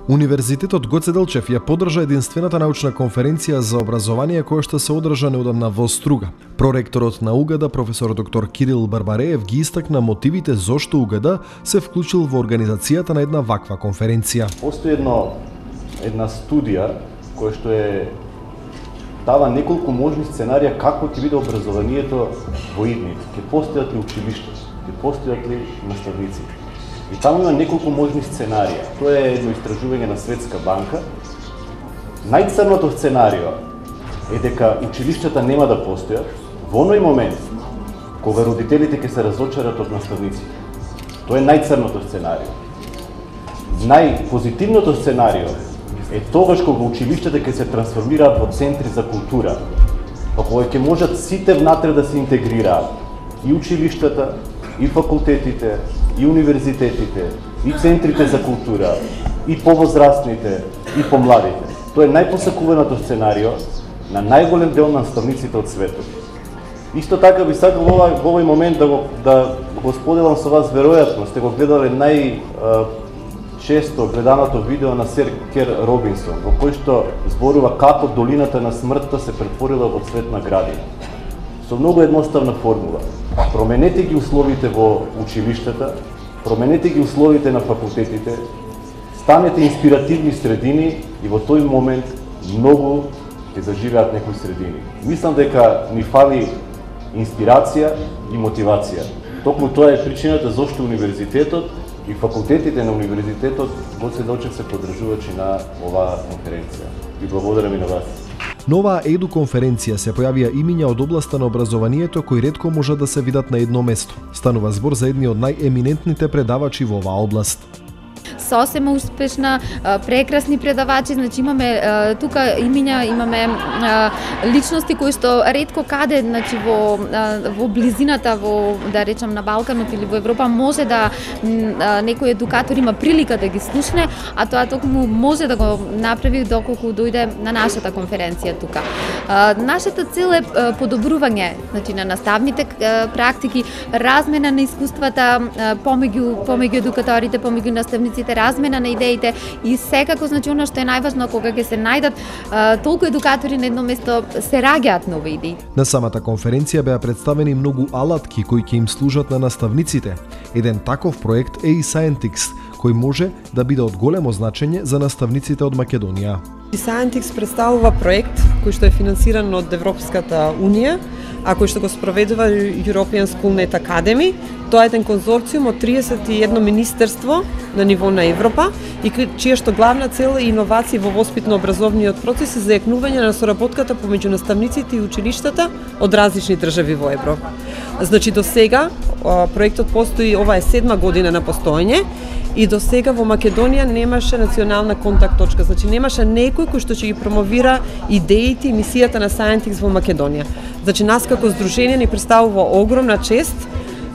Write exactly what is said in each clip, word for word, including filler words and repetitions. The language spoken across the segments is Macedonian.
Универзитетот Гоце Делчев ја поддржа единствената научна конференција за образование која што се одржа неодамна во Струга. Проректорот на УГД, професор доктор Кирил Барбареев, ги истакна мотивите зошто УГД се вклучил во организацијата на една ваква конференција. Постои едно, една студија која што е дава неколку можни сценарија како ќе биде образованието во идните. Ќе постојат ли училишта, ќе постојат ли наставници. И таму има неколку можни сценарија. Тоа е едно истражување на Светска банка. Најцрното сценарио е дека училиштата нема да постојат во оној момент кога родителите ќе се разочарат од наставниците. Тоа е најцрното сценарио. Најпозитивното сценарио е тогаш кога училиштата ќе се трансформираат во центри за култура, па кога ќе можат сите внатре да се интегрираат, и училиштата, и факултетите, и универзитетите, и центрите за култура, и повозрастните, и помладите. Тоа е најпосакуваното сценарио на најголем дел на наставниците од светот. Исто така би сакал во овој, во овој момент да го, да го споделам со вас, веројатно сте го гледале нај често гледаното видео на сер Кер Робинсон, во кој што зборува како долината на смртта се претворила во цветна градина. Со многу едноставна формула. Променете ги условите во училиштата, променете ги условите на факултетите, станете инспиративни средини и во тој момент многу ќе заживеат некои средини. Мислам дека ни фали инспирација и мотивација. Токму тоа е причината зошто универзитетот и факултетите на универзитетот Гоце Делчев се поддржувачи на оваа конференција. Ви благодарам и на вас. На оваа еду конференција се појавија имиња од областа на образованието кои ретко можат да се видат на едно место. Станува збор за едни од најеминентните предавачи во оваа област. Сосема успешна, прекрасни предавачи, значи имаме тука имиња, имаме личности кои што ретко каде, значи во во близината, во да речам на Балканот или во Европа може да некој едукатор има прилика да ги слушне, а тоа токму може да го направи доколку дојде на нашата конференција тука. Нашата цел е подобрување, значи на наставните практики, размена на искуствата помеѓу помеѓу едукаторите, помеѓу наставниците, размена на идеите и секако, значи, она што е најважно кога ќе се најдат а, толку едукатори на едно место, се раѓаат нови идеи. На самата конференција беа представени многу алатки кои ќе им служат на наставниците. Еден таков проект е и Scientix, кој може да биде од големо значење за наставниците од Македонија. Scientix представува проект кој што е финансиран од Европската унија, а кој што го спроведува European Schoolnet Academy. Тоа е еден конзорциум од триесет и едно министерство на ниво на Европа и чија што главна цел е иновации во воспитно-образовниот процес и зајакнување на соработката помеѓу наставниците и училиштата од различни држави во Европа. Значи до сега проектот постои, ова е седма година на постоење и до сега во Македонија немаше национална контакт точка, значи немаше некој кој што ќе ги промовира идеите и мисијата на Scientix во Македонија. Значи нас како здружение ни представува огромна чест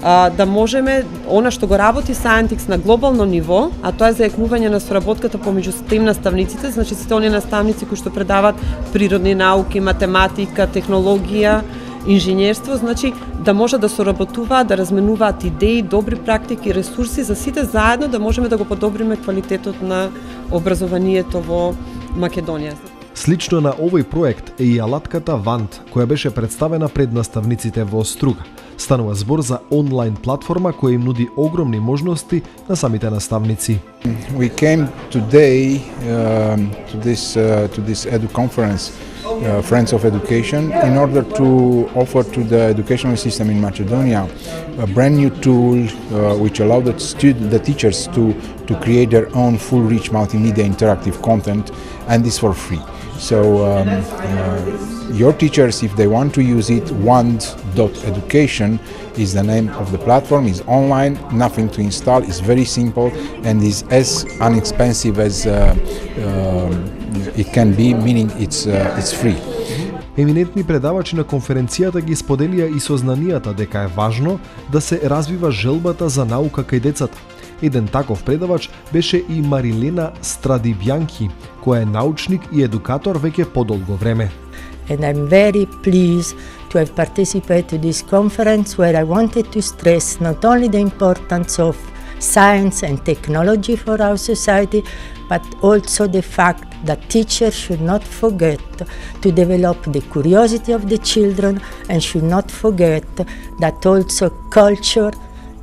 а, да можеме она што го работи Scientix на глобално ниво, а тоа е зајакнување на соработката помеѓу STEM наставниците, значи сите оние наставници кои што предаваат природни науки, математика, технологија, инженерство, значи да може да соработуваат, да разменуваат идеи, добри практики, ресурси за сите заедно да можеме да го подобриме квалитетот на образованието во Македонија. Слично на овој проект е и алатката Вант, која беше представена пред наставниците во Струга. Станува збор за онлайн платформа која им нуди огромни можности на самите наставници. We came today uh, to this uh, to this edu conference, uh, Friends of Education, in order to offer to the educational system in Macedonia a brand new tool uh, which allowed the student, the teachers to to create their own full reach multimedia interactive content, and this for free. So um, uh, your teachers, if they want to use it, wand dot education is the name of the platform. It's online, nothing to install, it's very simple and is as inexpensive as uh, uh, it can be, meaning it's, uh, it's free. Еминентни предавачи на конференцијата ги споделија и сознанијата дека е важно да се развива желбата за наука кај децата. Еден таков предавач беше и Марилена Страдивјанки, која е научник и едукатор веќе подолго време. And I'm very pleased to have participated to this conference where I wanted to stress not only the importance of science and technology for our society, but also the fact that teachers should not forget to develop the curiosity of the children and should not forget that also culture,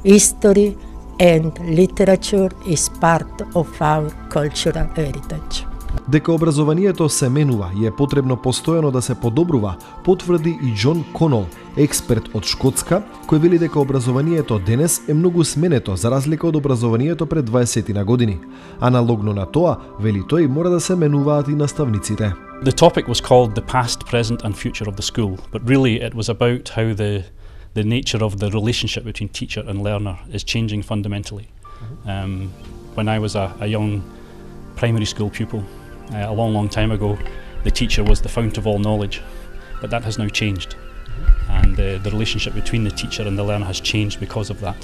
history and literature is part of our cultural heritage. Дека образованието се менува и е потребно постојано да се подобрува, потврди и Џон Конол, експерт од Шкотска, кој вели дека образованието денес е многу сменето за разлика од образованието пред дваесет години. Аналогно на тоа, вели тој, мора да се менуваат и наставниците. The topic was called the past, present and future of the school, but really it was about how the the nature of the relationship between teacher and learner is changing fundamentally. Um, when I was a, a young primary school pupil, Uh, a long, long time ago, the teacher was the fount of all knowledge, but that has now changed. And uh, the relationship between the teacher and the learner has changed because of that.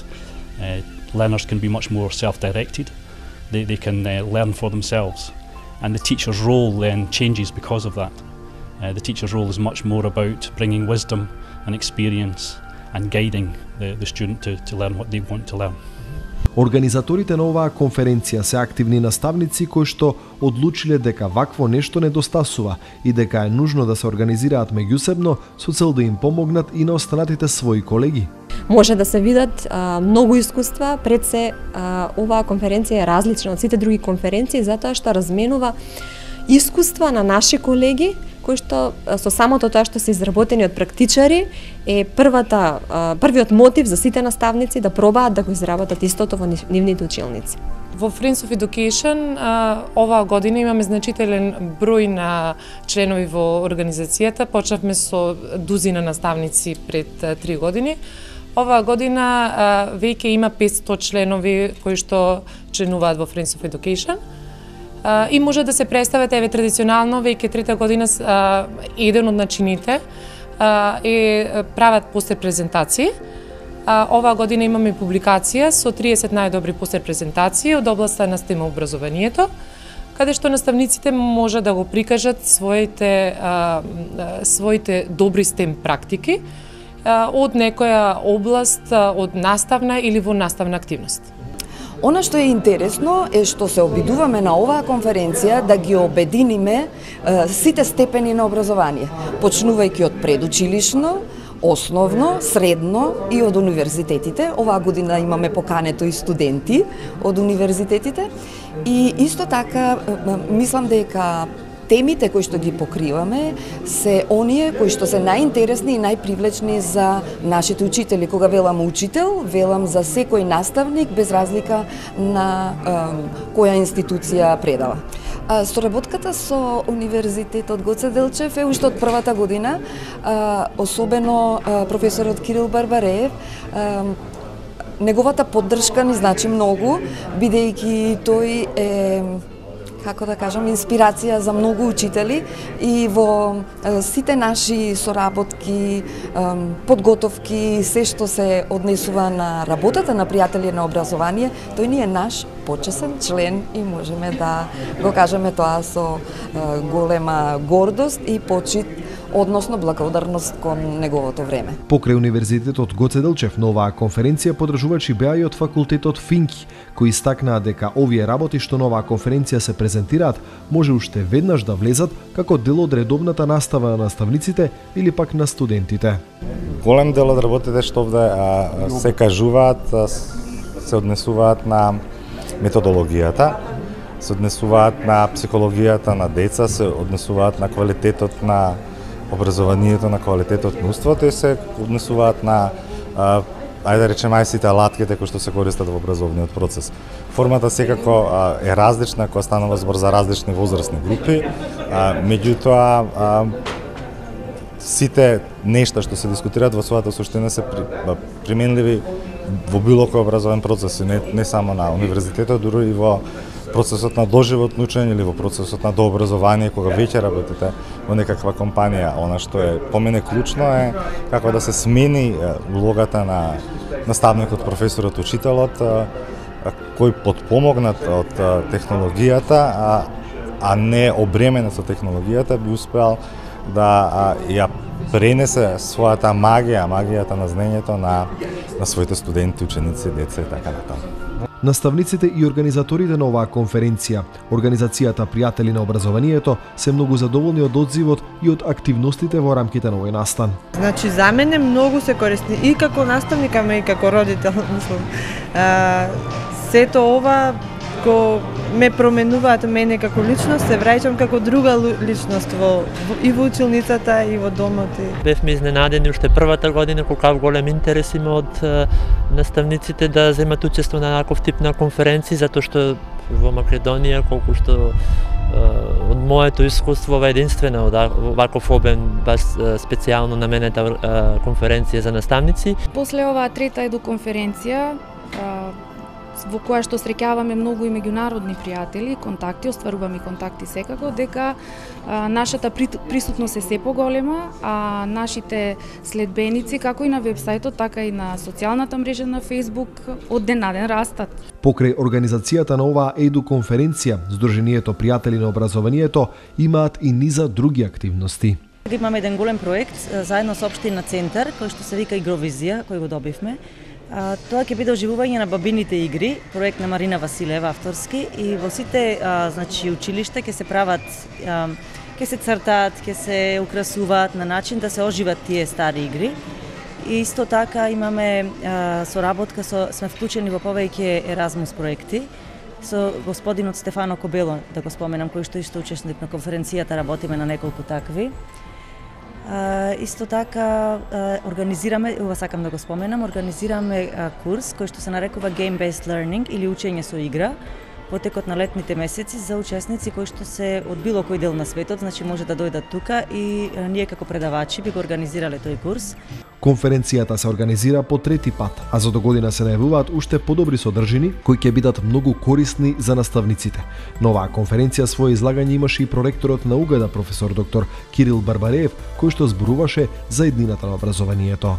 Uh, learners can be much more self-directed. They, they can uh, learn for themselves. And the teacher's role then changes because of that. Uh, the teacher's role is much more about bringing wisdom and experience and guiding the, the student to, to learn what they want to learn. Организаторите на оваа конференција се активни наставници кои што одлучиле дека вакво нешто недостасува и дека е нужно да се организираат меѓусебно со цел да им помогнат и на останатите своји колеги. Може да се видат а, многу искуства, пред се а, оваа конференција е различна од сите други конференции затоа што разменува искуства на наши колеги кои што со самото тоа што се изработени од практичари е првата првиот мотив за сите наставници да пробаат да го изработат истото во нивните училници. Во Friends of Education оваа година имаме значителен број на членови во организацијата. Почнавме со дузина наставници пред три години. Оваа година веќе има петстотини членови кои што членуваат во Friends of Education. Uh, и може да се представат, еве традиционално, веќе трета година uh, еден од начините uh, е прават постер презентации. Uh, оваа година имаме публикација со триесет најдобри постер презентации од областа на STEM образованието, каде што наставниците може да го прикажат своите, uh, своите добри STEM практики uh, од некоја област, uh, од наставна или во наставна активност. Она што е интересно е што се обидуваме на оваа конференција да ги обединиме е, сите степени на образование, почнувајќи од предучилишно, основно, средно и од универзитетите. Оваа година имаме покането и студенти од универзитетите и исто така мислам дека темите кои што ги покриваме се оние кои што се најинтересни и најпривлечни за нашите учители. Кога велам учител, велам за секој наставник без разлика на е, која институција предава. А, соработката со Универзитетот Гоце Делчев е уште од првата година, а, особено а, професорот Кирил Барбареев. А, неговата поддршка ни значи многу, бидејќи тој е, како да кажам, инспирација за многу учители и во е, сите наши соработки, е, подготовки, се што се однесува на работата на пријатели на образование, тој ни е наш почесен член и можеме да го кажеме тоа со е, голема гордост и почит, односно благодарност кон неговото време. Покрај Универзитетот Гоце Делчев на оваа конференција подржувачи беа и од факултетот Финки, кои истакнаа дека овие работи што на оваа конференција се презентираат може уште веднаш да влезат како дел од редовната настава на наставниците или пак на студентите. Голем дел од работите што овде а, се кажуваат а, се однесуваат на методологијата, се однесуваат на психологијата на деца, се однесуваат на квалитетот на образованието, на квалитетот на уството и се однесуваат на а, ајде да речеме сите алатките кои што се користат во образовниот процес. Формата секако а, е различна кога станува збор за различни возрастни групи, а, меѓутоа а, сите нешта што се дискутираат во својата суштина се при, а, применливи во било кој образовен процес, не, не само на универзитетот, дури и во процесот на доживотно учење или во процесот на дообразование, кога веќе работите во некаква компанија. Она што е по мене клучно е како да се смени улогата на наставникот, професорот, учителот, кој подпомогнат од технологијата, а, а не обременет со технологијата, би успеал да а, ја пренесе својата магија, магијата на знаењето на, на своите студенти, ученици, деца и така натаму. Наставниците и организаторите на оваа конференција, организацијата Пријатели на образованието, се многу задоволни од одзивот и од активностите во рамките на овој настан. Значи, за мене многу се корисни и како наставник, ама и како родител, мислам. А, сето ова го ме променуваат мене како личност, се враќам како друга личност во, и во училницата и во домот. Бевме изненадени уште првата година колку голем интерес има од наставниците да земат учество на таков тип на конференции, затоа што во Македонија, колку што од моето искуство, ова единствена од ваков обем, баш специјално наменета конференција за наставници. После оваа трета едуконференција, во која што среќаваме многу и меѓународни пријатели, контакти, остваруваме контакти секако, дека а, нашата присутност е се поголема, а нашите следбеници, како и на вебсајтот, така и на социјалната мрежа на Facebook, од ден на ден растат. Покрај организацијата на оваа еду конференција, Сдруженијето Пријатели на образованието имаат и низа други активности. Имаме еден голем проект заедно со општина Центар, кој што се вика Игровизија, кој го добивме. А, тоа ќе биде оживување на бабините игри, проект на Марина Василева авторски, и во сите а, значи училишта ќе се прават, а, ќе се цртаат, ќе се украсуваат на начин да се оживат тие стари игри. И исто така имаме а, соработка со сме вклучени во повеќе Еразмус проекти со господинот Стефано Кобело, да го споменам, кој што исто учесник на конференцијата, работиме на неколку такви. Uh, исто така uh, организираме, ова сакам да го споменам, организираме uh, курс кој што се нарекува Game-Based Learning или учење со игра во текот на летните месеци за учесници кои што се од било кој дел на светот, значи може да дојдат тука и uh, ние како предавачи би го организирале тој курс. Конференцијата се организира по трети пат, а за догодина се најавуваат уште подобри содржини кои ќе бидат многу корисни за наставниците. На оваа конференција своје излагање имаше и проректорот на УГД професор доктор Кирил Барбареев, кој што зборуваше за еднината на образованието.